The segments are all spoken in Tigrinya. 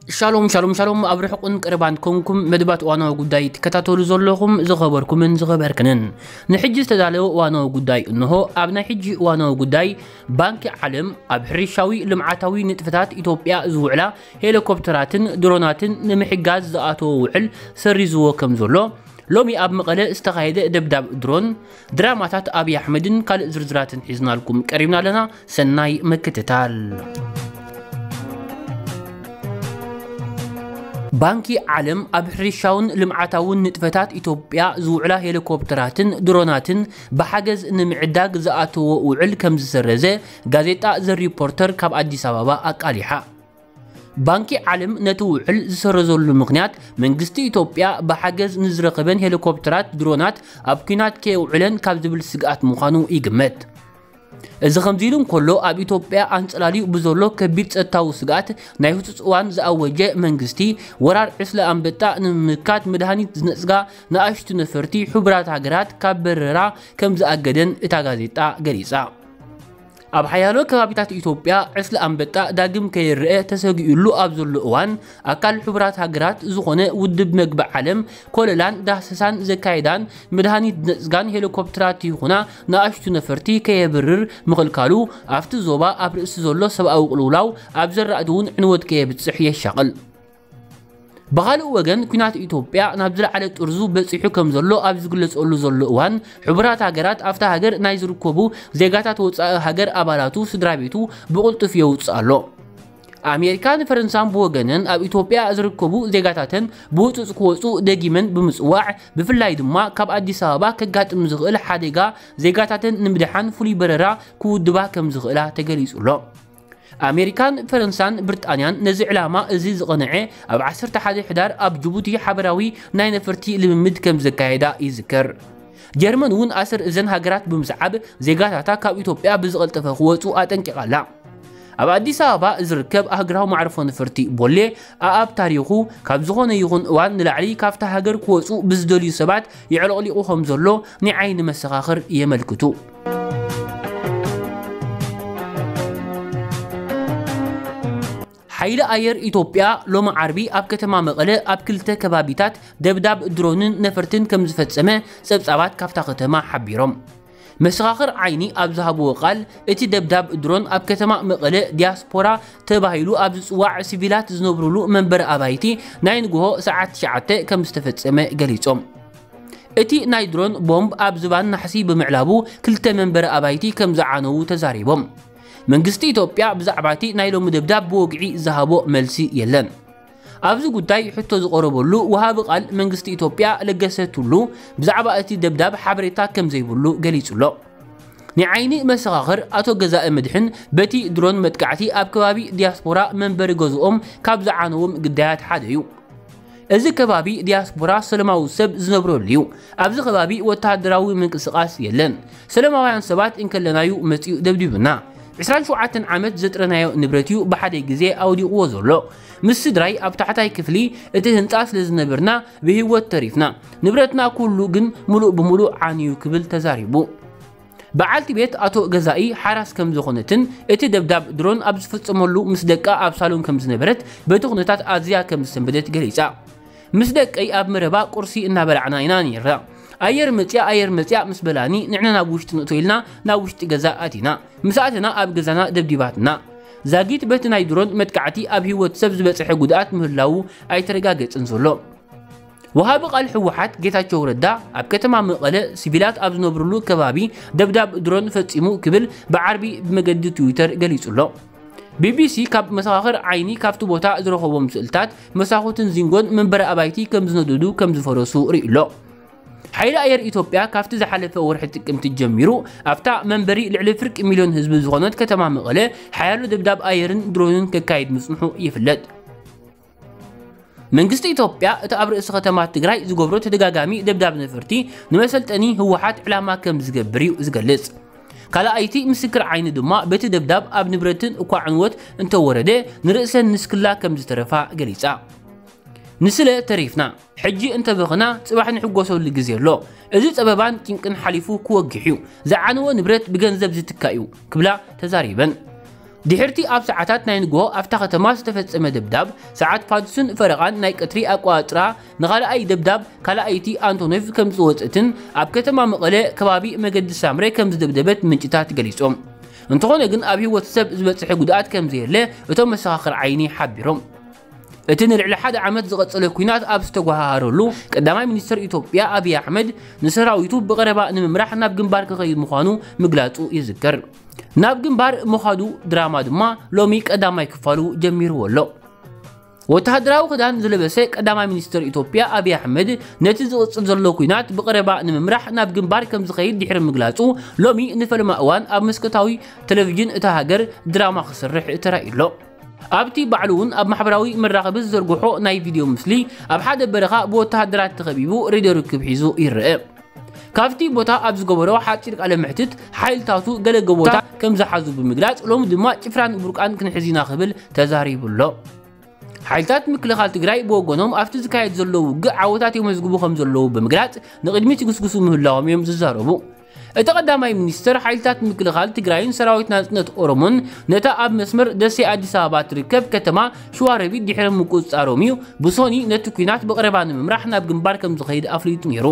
ሻሎም ሻሎም ሻሎም፣ ኣብ ርሑቕን ቀረባን ኮንኩም መደባት እዋናዊ ጉዳይ ትከታተሉ ዘለኹም ዝኸበርኩምን ዝኸበርክንን፣ ንሕጂ ዝተዳለወ እዋናዊ ጉዳይ እንሆ። ኣብ ናይ ሕጂ እዋናዊ ጉዳይ፣ ባንኪ ዓለም ኣብ ሕርሻዊ ልምዓታዊ ንጥፈታት ኢትዮጵያ ዝውዕላ ሄሊኮፕተራትን ድሮናትን ንምሕጋዝ ዝኣተወ ውዕል ሰሪዝዎ ከም ዘሎ፣ ሎሚ ኣብ መቐለ ዝተኻየደ ደብዳብ ድሮን፣ ድራማታት ኣብይ ኣሕመድን ካልእ ዝርዝራትን ሒዝናልኩም ቀሪብና ኣለና። ሰናይ ምክትታል። ባንኪ ዓለም ኣብ ሕርሻውን ልምዓታውን ንጥፈታት ኢትዮጵያ ዝውዕላ ሄሊኮፕተራትን ድሮናትን ብሓገዝ ንምዕዳግ ዝኣተዎ ውዕል ከም ዝሰረዘ ጋዜጣ ዘ ሪፖርተር ካብ ኣዲስ ኣበባ ኣቃሊሓ። ባንኪ ዓለም ነቲ ውዕል ዝሰረዘሉ ምኽንያት፣ መንግስቲ ኢትዮጵያ ብሓገዝ ንዝረኸበን ሄሊኮፕተራት ድሮናት ኣብ ኲናት ከየውዕለን ካብ ዝብል ስግኣት ምዃኑ ይግመት። እዚ ከምዚ ኢሉ እንከሎ፣ ኣብ ኢትዮጵያ ኣንጸላልዩ ብዘሎ ከቢድ ጸጥታዊ ስግኣት፣ ናይ ህጹጽ እዋን ዝኣወጀ መንግስቲ፣ ወራር ዕስለ ኣንበጣ ንምምካት መድሃኒት ዝነጽጋ ንኣሽቱ ነፈርቲ ሕቡራት ሃገራት ካብ በረራ ከም ዝኣገደን እታ ጋዜጣ ገሊጻ። ኣብ ሓያሎ ከባቢታት ኢትዮጵያ ዕስለ ኣንበጣ ዳግም ከይረአ ተሰጊኡሉ ኣብ ዘሎ እዋን፣ ኣካል ሕቡራት ሃገራት ዝኾነ ውድብ መግቢ ዓለም ኮለላን ዳህሰሳን ዘካየዳን መድሃኒት ነጽጋን ሄሊኮፕተራት ይኹና ንኣሽቱ ነፈርቲ ከየብርር ምኽልካሉ፣ ኣብቲ ዞባ ኣብ ርእሲ ዘሎ ሰብኣዊ ቅልውላው ኣብ ዘራእቲ እውን ዕንወት ከየብጽሕ የሻቕል። ብኻልእ ወገን፣ ኲናት ኢትዮጵያ ናብ ዝለዓለ ጥርዙ በጺሑ ከም ዘሎ ኣብ ዝግለጸሉ ዘሎ እዋን፣ ሕቡራት ሃገራት ኣብታ ሃገር ናይ ዝርከቡ ዜጋታት ወጻኢ ሃገር ኣባላቱ ስድራ ቤቱ ብቕልጡፍ የውጽእ ኣሎ። ኣሜሪካን ፈረንሳን ብወገነን ኣብ ኢትዮጵያ ዝርከቡ ዜጋታተን ብህጹጽ ክወጹ ደጊመን ብምጽዋዕ፣ ብፍላይ ድማ ካብ ኣዲስ ኣበባ ከጋጥም ዝኽእል ሓደጋ ዜጋታተን ንምድሓን ፍሉይ በረራ ክውድባ ከም ዝኽእላ ተገሊጹ ኣሎ። ኣሜሪካን ፈረንሳን ብሪጣንያን ነዚ ዕላማ እዚ ዝቐንዐ ኣብ ዓሰርተ ሓደ ሕዳር ኣብ ጅቡቲ ሓበራዊ ናይ ነፈርቲ ልምምድ ከም ዘካየዳ ይዝከር። ጀርመን እውን ኣሰር እዘን ሃገራት ብምስዓብ ዜጋታታ ካብ ኢትዮጵያ ብዝቐልጠፈ ክወጹ ኣጠንቂቓ ኣላ። ኣብ ኣዲስ ኣበባ ዝርከብ ኣህግራዊ መዕርፎ ነፈርቲ ቦሌ ኣኣብ ታሪኹ ካብ ዝኾነ ይኹን እዋን ንላዕሊ ካብታ ሃገር ክወጹ ብዝደልዩ ሰባት የዕለቕሊቑ ከም ዘሎ ናይ ዓይኒ መሰኻኽር የመልክቱ። ሓይሊ ኣየር ኢትዮጵያ ሎሚ ዓርቢ ኣብ ከተማ መቐለ ኣብ ክልተ ከባቢታት ደብዳብ ድሮንን ነፈርትን ከም ዝፈጸመ ጸብጻባት ካብታ ከተማ ሓቢሮም። መሰኻኽር ዓይኒ ኣብ ዝሃብዎ ቃል፣ እቲ ደብዳብ ድሮን ኣብ ከተማ መቐለ ዲያስፖራ ተባሂሉ ኣብ ዝጽዋዕ ሲቪላት ዝነብሩሉ መንበሪ ኣባይቲ ናይ ንግሆ ሰዓት ትሽዓተ ከም ዝተፈጸመ ገሊጾም። እቲ ናይ ድሮን ቦምብ ኣብ ዝባን ናሕሲ ብምዕላቡ ክልተ መንበሪ ኣባይቲ ከም ዝዓነዉ ተዛሪቦም። መንግስቲ ኢትዮጵያ ብዛዕባ እቲ ናይ ሎሚ ደብዳብ ብወግዒ ዝሃቦ መልሲ የለን። ኣብዚ ጉዳይ ሕቶ ዝቐረበሉ ወሃቢ ቃል መንግስቲ ኢትዮጵያ ለገሰ ቱሉ ብዛዕባ እቲ ደብዳብ ሓበሬታ ከም ዘይብሉ ገሊጹ ኣሎ። ናይ ዓይኒ መሰኻኽር ኣቶ ገዛኢ መድሕን በቲ ድሮን መጥቃዕቲ ኣብ ከባቢ ዲያስፖራ መንበሪ ገዝኦም ካብ ዝዓነዎም ግዳያት ሓደ እዩ። እዚ ከባቢ ዲያስፖራ ሰለማዊ ሰብ ዝነብረሉ እዩ። ኣብዚ ከባቢ ወተሃደራዊ ምንቅስቓስ የለን። ሰለማውያን ሰባት እንከለናዩ መጺኡ ደብዲቡና። ዕስራን ሸውዓተን ዓመት ዘጥረናዮ ንብረት እዩ ብሓደ ግዜ ኣውዲቕዎ ዘሎ። ምስ ስድራይ ኣብ ታሕታይ ክፍሊ እቲ ህንጻ ስለ ዝነበርና ብህይወት ተሪፍና። ንብረትና ኩሉ ግን ምሉእ ብምሉእ ዓንዩ ክብል ተዛሪቡ። በዓልቲ ቤት ኣቶ ገዛኢ ሓራስ ከም ዝኾነትን እቲ ደብዳብ ድሮን ኣብ ዝፍጸመሉ ምስ ደቃ ኣብ ሳሎን ከም ዝነበረት በቲ ኩነታት ኣዝያ ከም ዝሰንበደት ገሊጻ። ምስ ደቀይ ኣብ መረባ ቁርሲ እናበላዕና ኢና ነይርና። ኣየር መጽያ ኣየር መጽያ ምስ በላኒ ንሕና ናብ ውሽጢ ንእቶ ኢልና ናብ ውሽጢ ገዛ ኣቲና። ምስ ኣተና ኣብ ገዛና ደብዲባትና። ዛጊት በቲ ናይ ድሮን መጥቃዕቲ ኣብ ህይወት ሰብ ዝበጽሐ ጉድኣት ምህላዉ ኣይተረጋገጽን ዘሎ። ወሃቢ ቃል ህወሓት ጌታቸው ረዳ ኣብ ከተማ መቐለ ሲቪላት ኣብ ዝነብሩሉ ከባቢ ደብዳብ ድሮን ፈጺሙ ክብል ብዓርቢ ብመገዲ ትዊተር ገሊጹ ኣሎ። ቢቢሲ ካብ መሰኻኽር ዓይኒ ካብቲ ቦታ ዝረኸቦም ስእልታት መሳኹትን ዚንጎን መንበሪ ኣባይቲ ከም ዝነደዱ ከም ዝፈረሱ ርእዩ ኣሎ። ሓይሊ ኣየር ኢትዮጵያ ካብቲ ዝሓለፈ ወርሒ ጥቅምቲ ጀሚሩ ኣብታ መንበሪ ልዕሊ ፍርቂ ሚልዮን ህዝቢ ዝኾነት ከተማ መቐለ ሓያሎ ደብዳብ ኣየርን ድሮንን ከካይድ ምጽንሑ ይፍለጥ። መንግስቲ ኢትዮጵያ እቲ ኣብ ርእሲ ከተማ ትግራይ ዝገብሮ ተደጋጋሚ ደብዳብ ነፈርቲ ንመሰልጠኒ ህወሓት ዕላማ ከም ዝገብር እዩ ዝገልጽ። ካልኣይቲ ምስክር ዓይኒ ድማ በቲ ደብዳብ ኣብ ንብረትን እኳ ዕንወት እንተወረደ ንርእሰን ንስክላ ከም ዝተረፋ ገሊጻ። ንስለ ተሪፍና፣ ሕጂ እንተበኽና ጽባሕ ንሕጎሰሉ ግዜ ኣሎ። እዚ ጸበባን ጭንቅን ሓሊፉ ክወግሕ እዩ። ዝዓነወ ንብረት ብገንዘብ ዝትካእ እዩ ክብላ ተዛሪበን። ድሕርቲ ኣብ ሰዓታት ናይ ንግሆ ኣብታ ከተማ ዝተፈጸመ ደብዳብ፣ ሰዓት ፋዱስን ፈረቓን ናይ ቀትሪ ኣቋጽራ፣ ንኻልኣይ ደብዳብ ካልኣይቲ ኣንቶኖቭ ከም ዝወጸትን ኣብ ከተማ መቐለ ከባቢ መገዲ ሳምረ ከም ዝደብደበት ምንጭታት ገሊጾም። እንተኾነ ግን ኣብ ህይወት ሰብ ዝበጽሐ ጉድኣት ከም ዘየለ እቶም መሰኻኽር ዓይኒ ሓቢሮም። እቲ ንልዕሊ ሓደ ዓመት ዝቐጸለ ኲናት ኣብ ዝተጓሃሃረሉ፣ ቀዳማይ ሚኒስትር ኢትዮጵያ ኣብይ ኣሕመድ ንሰራዊቱ ብቐረባ ንምምራሕ ናብ ግንባር ክኸይድ ምዃኑ ምግላጹ ይዝከር። ናብ ግንባር ምዃዱ ድራማ ድማ ሎሚ ቀዳማይ ክፋሉ ጀሚርዎ ኣሎ። ወተሃደራዊ ክዳን ዝለበሰ ቀዳማይ ሚኒስትር ኢትዮጵያ ኣብይ ኣሕመድ፣ ነቲ ዝቕጽል ዘሎ ኲናት ብቐረባ ንምምራሕ ናብ ግንባር ከም ዝኸይድ ድሕሪ ምግላጹ፣ ሎሚ ንፈለማ እዋን ኣብ መስኮታዊ ቴሌቪዥን እታ ሃገር ድራማ ክሰርሕ ተራእዩ ኣሎ። ኣብቲ ባዕሉ እውን ኣብ ማሕበራዊ መራኸቢ ዝዘርግሖ ናይ ቪድዮ ምስሊ፣ ኣብ ሓደ በረኻ ብወተሃደራት ተኸቢቡ ሬድዮ ርክብ ሒዙ ይረአ። ካብቲ ቦታ ኣብ ዝገበሮ ሓጺር ቃለ መሕትት፣ ሓይልታቱ ገለ ጎቦታት ከም ዝሓዙ ብምግላጽ፣ ሎሚ ድማ ጭፍራን ቡርቃን ክንሕዝ ኢና ክብል ተዛሪቡ ኣሎ። ሓይልታት ምክልኻል ትግራይ ብወገኖም ኣብቲ ዝካየድ ዘሎ ውግእ ዓወታት የመዝግቡ ከም ዘለዉ ብምግላጽ፣ ንቕድሚት ይግስግሱ ምህላዎም እዮም ዝዛረቡ። እቲ ቀዳማይ ሚኒስትር፣ ሓይልታት ምክልኻል ትግራይን ሰራዊት ናጽነት ኦሮሞን ነታ ኣብ መስመር ደሴ ኣዲስ ኣበባ ትርከብ ከተማ ሸዋሮቢት ድሕሪ ምቁጽጻሮም እዩ ብሶኒ ነቲ ኲናት ብቐረባ ንምምራሕ ናብ ግንባር ከም ዝኸይድ ኣፍሊጡ ነይሩ።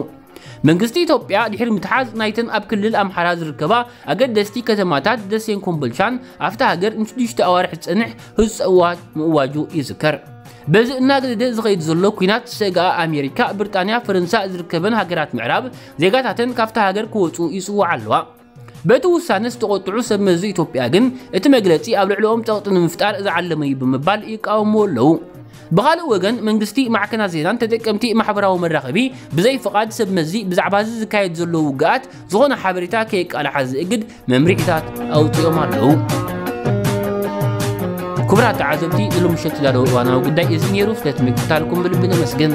መንግስቲ ኢትዮጵያ ድሕሪ ምትሓዝ ናይተን ኣብ ክልል ኣምሓራ ዝርከባ ኣገደስቲ ከተማታት ደሴን ኮምቦልቻን፣ ኣብታ ሃገር ንሽዱሽተ ኣዋርሕ ዝጸንሕ ህጹጽ እዋጅ ምእዋጁ ይዝከር። በዚ እናገደደ ዝኸይድ ዘሎ ኲናት፣ ሰግኣ ኣሜሪካ፣ ብሪጣንያ፣ ፈረንሳ ዝርከበን ሃገራት ምዕራብ ዜጋታተን ካብታ ሃገር ክወጹ ይጽውዓ ኣለዋ። በቲ ውሳነ ዝተቖጥዑ ሰብ መዚ ኢትዮጵያ ግን፣ እቲ መግለጺ ኣብ ልዕሊኦም ጸቕጢ ንምፍጣር ዝዓለመ እዩ ብምባል ይቃወምዎ ኣለዉ። ብኻልእ ወገን፣ መንግስቲ፣ ማዕከናት ዜናን ተጠቀምቲ ማሕበራዊ መራኸቢ ብዘይ ፍቓድ ሰብ መዚ ብዛዕባ እዚ ዝካየድ ዘሎ ውግኣት ዝኾነ ሓበሬታ ከየቃልሓ ዝእግድ መምርሒታት ኣውጺኦም ኣለዉ። ክቡራት ተዓዘብቲ፣ ንሎሚ ምሸት ዝዳለወ እዋናዊ ጉዳይ እዚ ነይሩ። ስለቲ ምክትታልኩም ብልቢ ነመስግን።